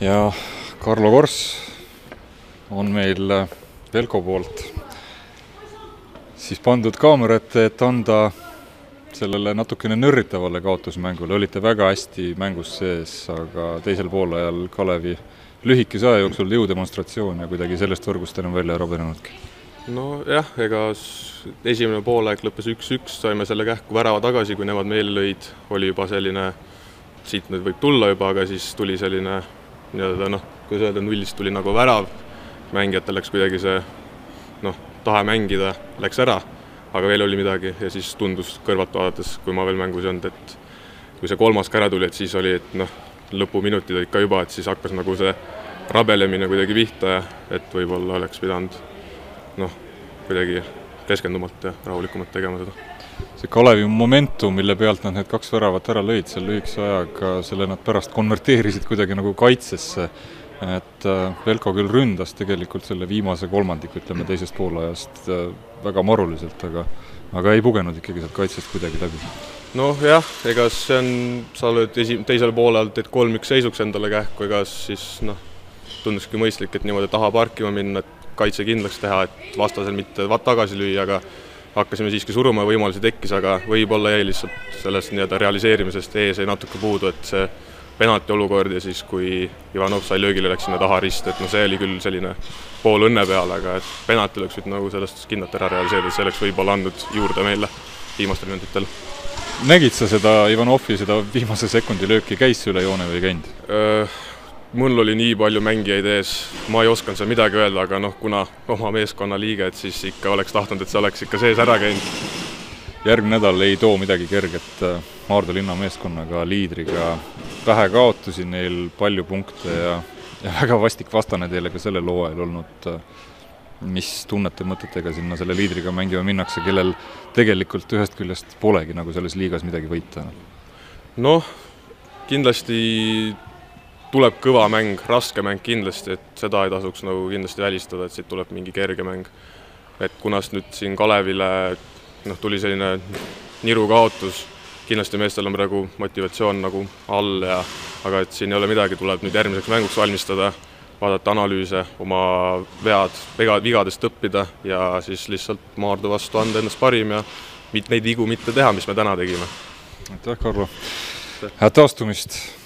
Ja Karlo Kors on meil Velko poolt siis pandud kaamera ette, et anda sellele natukene nörritavale kaotusmängule. Olite väga hästi mängus sees, aga teisel poolajal Kalevi lühikese aja jooksul jõudemonstratsioon ja kuidagi sellest võrgust enam välja rabenenudki. No jah, ega esimene poolaeg lõppes 1-1, saime selle kähku värava tagasi, kui nemad meile lõid, oli juba selline, siit nüüd võib tulla juba, aga siis tuli selline, kuidas öelda, nullist tuli nagu värav, mängijatel läks kuidagi see, tahe mängida läks ära, aga veel oli midagi ja siis tundus kõrvalt vaadates, kui ma veel mängus ei olnud, et kui see kolmas ka ära tuli, et siis oli, et lõpuminutid olid ka juba, et siis hakkas nagu see rabelemine kuidagi pihta ja et võib-olla oleks pidanud kuidagi keskendumalt ja rahulikumalt tegema seda. See Kalevi momentum, mille pealt nad need 2 väravat ära lõid seal lühikese ajaga, selle nad pärast konverteerisid kuidagi nagu kaitsesse, et Velko küll ründas tegelikult selle viimase kolmandiku, ütleme teisest poolajast väga maruliselt, aga ei pugenud ikkagi sealt kaitsest kuidagi läbi. Jah, ega see on, sa oled teisel poolel teed 3-1 seisuks endale kähku, ega siis tunduski mõistlik, et niimoodi taha parkima minna, et kaitse kindlaks teha, et vastasel mitte tagasi lüüa, aga hakkasime siiski suruma, võimalusi tekkis, aga võib-olla jäi lihtsalt sellest realiseerimisest ees ei natuke puudu, et see penalti olukord ja siis, kui Ivanov sai löögile, läks sinna taha rist, et see oli küll selline pool õnne peale, aga et penalti oleks võinud nagu sellest kindlalt ära realiseerida, see oleks võib-olla andnud juurde meile viimastel minutitel. Nägid sa seda Ivanovi, seda viimase sekundi lööki, käis üle joone või ei käinud? Mul oli nii palju mängijaid ees, ma ei osanud seal midagi öelda, aga kuna oma meeskonna liige, et siis ikka oleks tahtnud, et see oleks ikka sees ära käinud. Järgmine nädal ei too midagi kerget Maardu linna meeskonnaga, liidriga. Vähe kaotusi neil, palju punkte ja väga vastik vastane teile ka selle looajal olnud. Mis tunnete mõtetega sinna selle liidriga mängima minnakse, kellel tegelikult ühest küljest polegi nagu selles liigas midagi võita? Kindlasti tuleb kõva mäng, raske mäng kindlasti, et seda ei tasuks nagu kindlasti välistada, et siit tuleb mingi kerge mäng. Et kunas nüüd siin Kalevile tuli selline niru kaotus, kindlasti meestel on praegu motivatsioon nagu all, aga et siin ei ole midagi, tuleb nüüd järgmiseks mänguks valmistada, vaadata analüüse, oma vigadest õppida ja siis lihtsalt Maardu vastu anda ennast parim ja neid vigu mitte teha, mis me täna tegime. Aitäh, Karlo! Head taastumist!